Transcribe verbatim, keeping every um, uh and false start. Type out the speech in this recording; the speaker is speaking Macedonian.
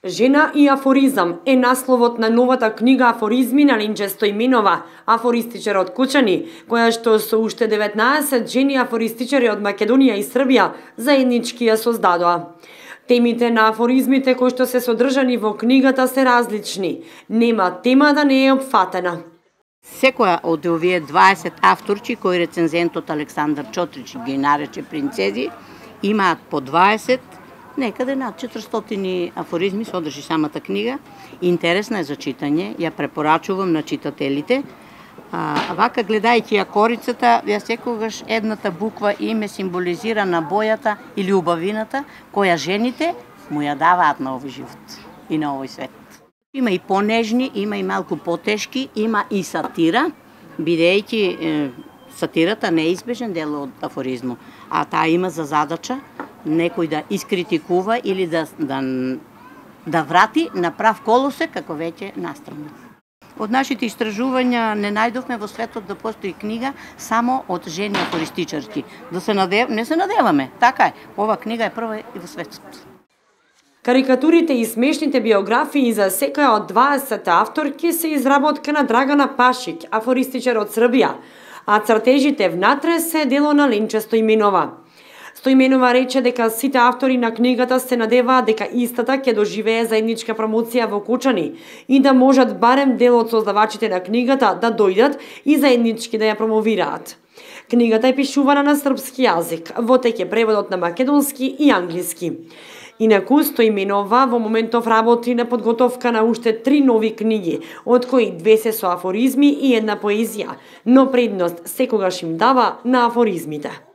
Жена и афоризам е насловот на новата книга Афоризми на Линче Стоименова, афористичар од Кучани, која што со уште деветнаесет жени афористичари од Македонија и Србија заеднички ја создадоа. Темите на афоризмите кои што се содржани во книгата се различни. Нема тема да не е опфатена. Секоја од овие дваесет авторчи кои рецензентот Александар Чотрич ги нарече принцези, имаат по дваесет, некаде над четиристотини афоризми содржи самата книга. Интересна е за читање, ја препорачувам на читателите. А, вака гледајќи ја корицата, ја секогаш едната буква име символизира на бојата или убавината која жените му ја даваат на овој живот и на овој свет. Има и понежни, има и малку потешки, има и сатира, бидејќи е, сатирата не е избежен дел од афоризмот, а таа има за задача некој да искритикува или да, да, да врати на прав колосек, како веќе настрано. Од нашите истражувања не најдовме во светот да постои книга само од жени афористичарки. Да се надев... Не се надеваме, така е. Ова книга е прва и во светот. Карикатурите и смешните биографии за секоја од дваесет авторки се изработка на Драгана Пашик, афористичар од Србија, а цртежите внатре се дело на Линче Стоименова. Стоименова рече дека сите автори на книгата се надеваат дека истата ќе доживее заедничка промоција во Кучани и да можат барем дел од создавачите на книгата да дојдат и заеднички да ја промовираат. Книгата е пишувана на српски јазик, во тек е преводот на македонски и англиски. Инаку Стоименова во моментов работи на подготовка на уште три нови книги, од кои две се со афоризми и една поезија, но предност секогаш им дава на афоризмите.